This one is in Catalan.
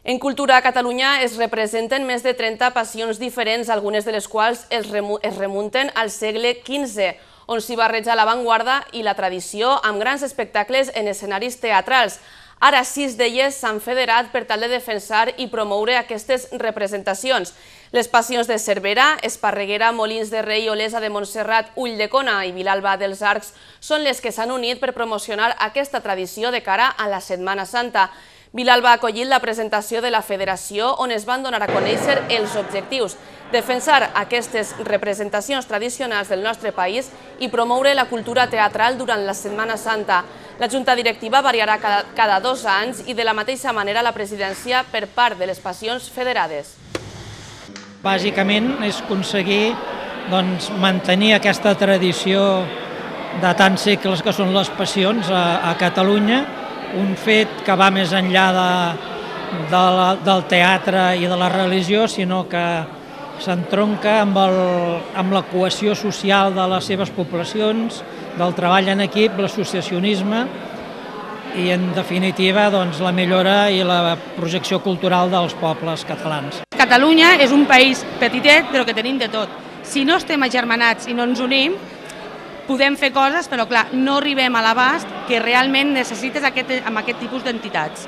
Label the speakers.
Speaker 1: En Cultura a Catalunya es representen més de 30 passions diferents, algunes de les quals es remunten al segle XV, on s'hi barreja l'avantguarda i la tradició amb grans espectacles en escenaris teatrals. Ara 6 d'elles s'han federat per tal de defensar i promoure aquestes representacions. Les passions de Cervera, Esparreguera, Molins de Rei, Olesa de Montserrat, Ulldecona i Vilalba dels Arcs són les que s'han unit per promocionar aquesta tradició de cara a la Setmana Santa. Vilalba ha acollit la presentació de la federació on es van donar a conèixer els objectius, defensar aquestes representacions tradicionals del nostre país i promoure la cultura teatral durant la Setmana Santa. La Junta Directiva variarà cada 2 anys i de la mateixa manera la presidència per part de les passions federades.
Speaker 2: Bàsicament és aconseguir mantenir aquesta tradició de tants segles que són les passions a Catalunya, un fet que va més enllà del teatre i de la religió, sinó que s'entronca amb la cohesió social de les seves poblacions, del treball en equip, l'associacionisme i, en definitiva, la millora i la projecció cultural dels pobles catalans.
Speaker 3: Catalunya és un país petitet, però que tenim de tot. Si no estem agermanats i no ens unim, podem fer coses, però clar, no arribem a l'abast que realment necessites amb aquest tipus d'entitats.